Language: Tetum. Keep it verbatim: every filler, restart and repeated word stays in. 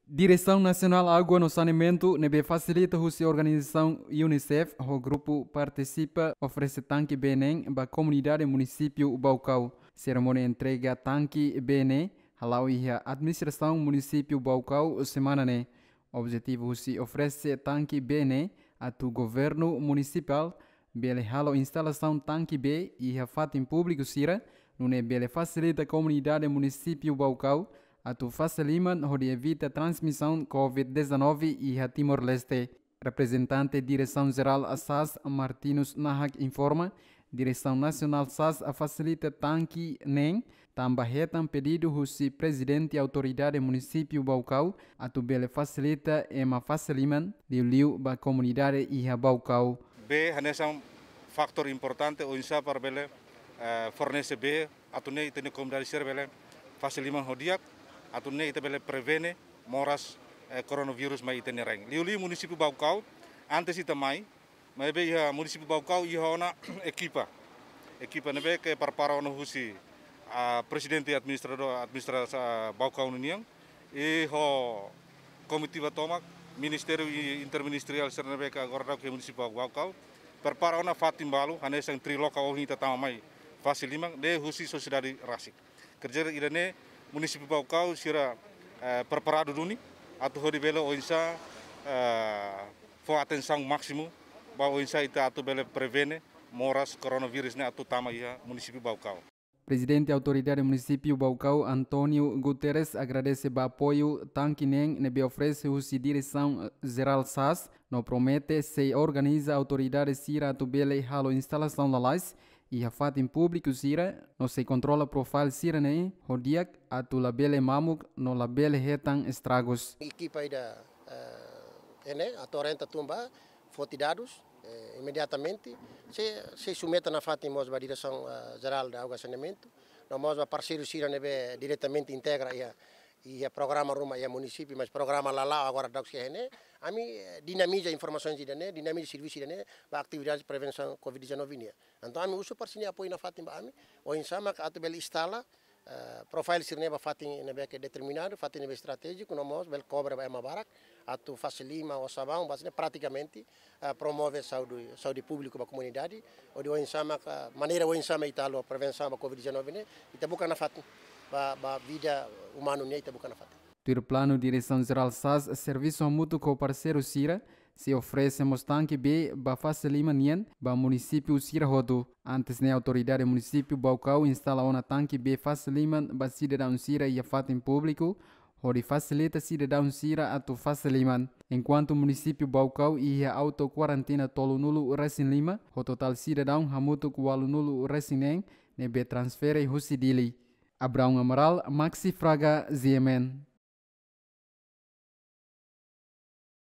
Diresaun Nasionál Água no Saneamentu ne'ebé fasilita husi organizasaun UNICEF ho grupu partisipa oferese tanke bee neen ba komunidade munisípiu Baucau. Serimónia entrega tanke bee ne'e hala'o iha administrasaun munisípiu Baucau semana ne'e. Objetivu husi oferese tanke bee ne'e atu governu munisipál bele halo instalasaun tanke bee iha fatin públiku sira, nune'e bele fasilita komunidade munisípiu Baucau atu fase liman hodi evita transmisaun COVID dezanove iha Timor-Leste. Reprezentante Diresaun Jerál SAS, Martinus Nahak, informa, Diresaun Nasionál SAS fasilita tanke neen tanba hetan pedidu husi Prezidente Autoridade Munisípiu Baucau atu bele fasilita ema fase liman liuliu ba komunidade iha Baucau. Bee hanesan fatór importante oinsá para bele, eh, fornese bee atu nune'e ita-nia komunidade sira bele fase liman ho di'ak, atu nune'e ita bele prevene moras, eh, koronavírus mai ita-nia rain. Liuliu munisípiu Baucau, antes ita mai, maibé iha munisípiu Baucau iha ona ekipa. Ekipa ne'ebé ke prepara ona husi, ah, prezidente administradór, administrasaun Baucau nian, i ho komitiva tomak, ministériu i interministeriál sira ne'ebé ke agora daudauk iha munisípiu Baucau, prepara ona fatin balu, hanesan trilok ohin ita tama mai fase liman, ne'e husi sosiedade rasik. Kerja ida-ne'e munisípiu Baucau sira, eh, preparadu duni atu hodi bele oinsá, eh, fó atensaun másimu ba oinsá ita atu bele prevene moras koronavírus ne'e atu tama iha munisípiu Baucau. Prezidente Autoridade Munisípiu Baucau, António Guterres, agradese ba apoiu tanke neen ne'ebé oferese husi Diresaun Jerál SAS, no promete sei organiza autoridade sira atu bele halo instalasaun lalais iha fatin públiku sira, no sei kontrola profile sira-ne'e ho di'ak atu labele mamuk no labele hetan estragus. Ekipa ida, eh, ne'e atu orienta tun ba foti dadus, eh, imediatamente sei, sei submete nafatin mós ba Diresaun, eh, Jerál Água Saneamentu, no mós ba parseiru sira ne'ebé diretamente integra iha, iha programa ruma iha munisípiu, mas programa la la'o agora daudauk iha ne'e. Ami, eh, dinamiza informasaun ida-ne'e, dinamiza servisu ida-ne'e ba atividade prevensaun COVID dezanove nian. Entaun ami husu para sira-nia apoiu nafatin ba ami, oinsá mak atu bele instala, eh, profile sira-ne'e ba fatin ne'ebé ke determinadu, fatin ne'ebé estratéjiku, no mós bele kobre ba ema barak atu fase liman ho sabaun, ba sira-ne'e pratikamente, eh, promove saúde, saúde públiku ba komunidade, hodi oinsá mak, maneira oinsá mak ita halo prevensaun ba COVID dezanove ne'e, ita buka nafatin, ba, ba vida umanu nian ita buka nafatin. Tuir planu, Diresaun Jerál SAS servisu hamutuk ho parseiru sira, sei oferese mós tanke bee ba fase liman nian ba munisípiu sira hotu. Antes ne'e Autoridade Munisípiu Baucau instala ona tanke bee fase liman ba sidadaun sira iha fatin públiku, hodi fasilita sidadaun sira atu fase liman. Enkuantu munisípiu Baucau iha auto kuarentina tolunulu resin lima, ho totál sidadaun hamutuk ualunulu resin neen ne'ebé transfere husi Dili. Abraão Amaral, Maxi Fraga, G M N.